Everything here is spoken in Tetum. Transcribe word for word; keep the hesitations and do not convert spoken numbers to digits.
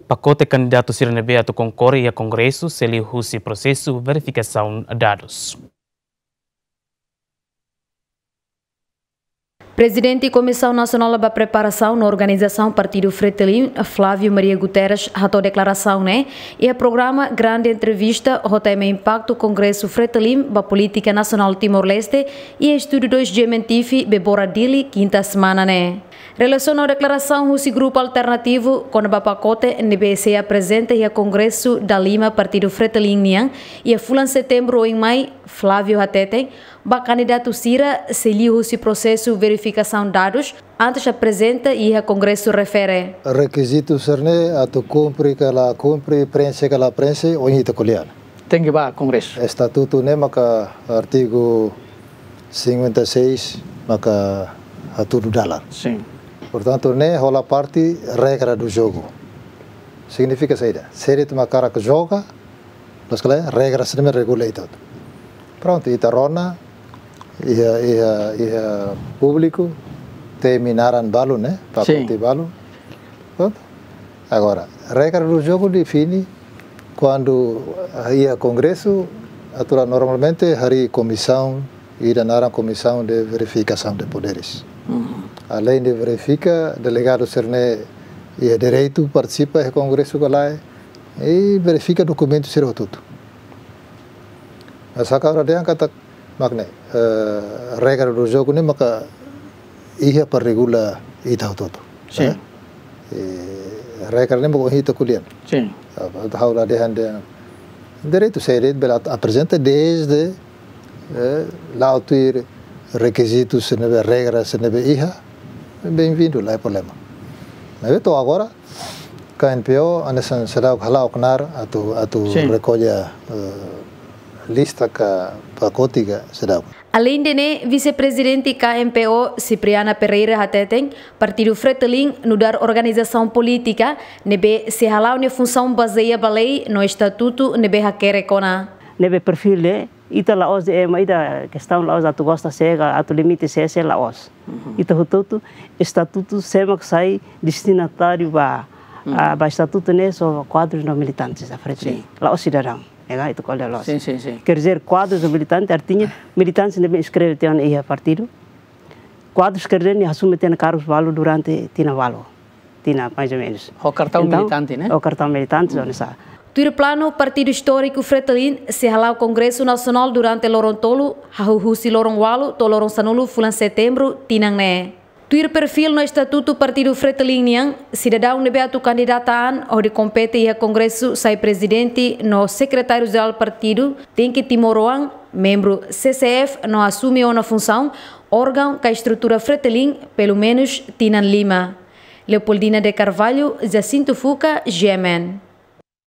Pakote kandidatu sira ne'ebé atu konkorre iha Kongresu sei liuhusi prosesu verifikasaun dadus. Prezidente Komisaun Nasionál ba Preparasaun no Organizasaun Partidu Fretilin, Flávio Maria Guterres, hato'o deklarasaun ne'e iha programa Grande Entrevista ho tema Impaktu Kongresu Fretilin ba Polítika Nasionál Timor-Leste iha Estúdiu dois G M N T V, Bebora, Dili, kinta semana ne'e. Relasiona ho deklarasaun husi grupu alternativu kona-ba pakote ne'ebé sei aprezenta iha Kongresu dalima Partidu Fretilin nian iha fulan Setembru oin mai, Flávio hateten, ba kandidatu sira sei liuhusi prosesu verifikasaun dadus antes aprezenta iha Kongresu refere. Rekizitu sira-ne'e atu kumpre ka la kumpre, prenxe ka la prenxe, ohin ita ko'alia. Tenke ba Kongresu. Estatutu ne'e maka artigu cinquenta e seis maka hatudu dalan. Sin. Portantu, ne'e hola parte regra do jogo. Signifika saida? Sé de'it mak hakarak joga, loos ka lae, regra sira-ne'e regula ita hotu. Prontu, ita rona, iha, iha, iha públiku, temi naran balu, ne'e? Sin. Pakote balu. Prontu. Agora, regra do jogo define kuandu, ah, iha Kongresu, atu la normalmente harii komisaun, ida naran Comissão de Verificação de Poderes. Mhm. Além de verifika, delegadu sira-ne'e iha direitu partisipa iha Kongresu ka lae, i verifika dokumentu sira hotu-hotu. Mas hakarak dehan katak, mak ne'e, eh, regra do jogo ne'e maka iha para regula ita hotu-hotu. Sin. Eh? I regra ne'e maka ohin ita ko'alia. Sin. Ah, ha'u la dehan dehan direitu, sé de'it bele ap-, aprezenta desde, eh, la'o tuir rekizitu sira ne'ebé, regra sira ne'ebé iha, benvindu, la iha problema. Maibé to'o agora, K M P O, hanesan seidauk hala'o knaar atu, atu Sin. rekolla, eh, lista ka pakote ka seidauk. Aleinde ne'e, Vise-Prezidente K M P O, Cipriana Pereira hateten, Partidu Fretilin nu'udar organizasaun polítika ne'ebé sei hala'o nia funsaun bazeia ba lei no estatutu ne'ebé hakerek ona. Ne'ebé perfil ne'e, ita la'ós ema ida kestaun la'ós atu gosta sé ka atu limite sé, sé la'ós. Mhm. Ita hotu-hotu estatutu sé mak sai destinatáriu ba, Mhm. ah, ba estatutu ne'e só kuadrus no militantes da Fretilin. Sin. La'ós sidadaun. Ega, ita ko'alia loos. Sin, sin, sin. Quer dizer, kuadrus no militante, artinya militante ne'ebé inskreve tiha ona iha partidu. Kuadrus quer dizer ne'e asume tiha ona kargus balu durante tinan balu. Tinan, mais ou menos. Ho kartaun Entaun, militante, ne'e? Ho kartaun militante, Hmm. hanesan. Tuir planu, Partidu Istóriku Fretilin sei hala'o Kongresu Nasionál durante loron tolu, hahú husi loron ualu to'o loron sanulu fulan Setembru tinan ne'e. Tuir perfil no estatutu Partidu Fretilin nian, sidadaun ne'ebé atu kandidata an hodi kompete iha Kongresu sai prezidente no sekretáriu-jerál partidu, tenke timoroan, membru C C F no asume ona funsaun, órgaun ka estrutura Fretilin, pelumenus tinan lima. Leopoldina de Carvalho, Jacinto Fuca, G M N.